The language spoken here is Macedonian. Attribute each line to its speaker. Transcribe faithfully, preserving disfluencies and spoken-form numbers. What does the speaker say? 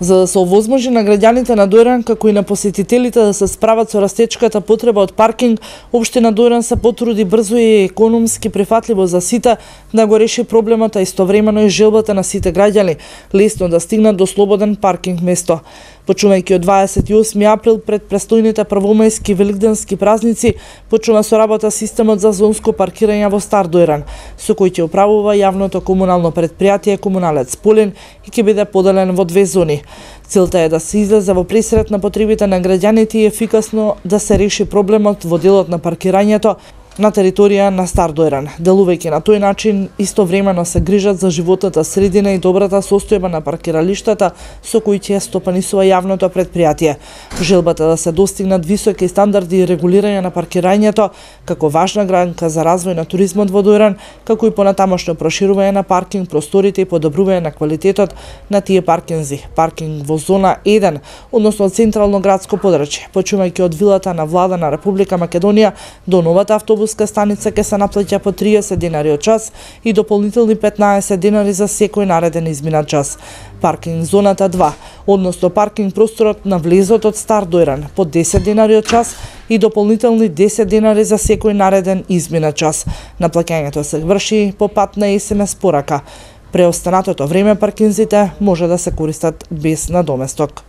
Speaker 1: За да се овозможи на граѓаните на Дојран, како и на посетителите да се справат со растечката потреба од паркинг, општина Дојран се потруди брзо и економски прифатливо за сите да го реши проблемот, а истовремено и желбата на сите граѓани лесно да стигнат до слободен паркинг место. Почнувајќи од дваесет и осми април пред престојните првомајски великденски празници, почнува со работа системот за зонско паркирање во Стар Дојран, со кој ќе управува јавното комунално предпријатие Комуналец Полин и ќе биде поделен во две зони. Целта е да се излезе во пресрет на потребите на граѓаните и ефикасно да се реши проблемот во делот на паркирањето на територија на Стар Дојран. Делувајќи на тој начин, истовремено се грижат за животната средина и добрата состојба на паркиралиштата со кои ќе стопанисува јавното предпријатие. Желбата да се достигнат високи стандарди и регулирање на паркирањето како важна гранка за развој на туризмот во Дојран, како и понатамошно проширување на паркинг просторите и подобрување на квалитетот на тие паркинзи. Паркинг во зона еден, односно централно градско подрачје, почнувајќи од вилата на влада на Република Македонија до новата автобуска станица ќе се наплаќа по триесет денари од час и дополнителни петнаесет денари за секој нареден изминат час. Паркинг зоната два, односно паркинг просторот на влезот од Стар Дојран по десет денари од час и дополнителни десет денари за секој нареден изминат час. Наплаќањето се врши по пат на ес ем ес порака. Преостанатото време паркинзите може да се користат без надоместок.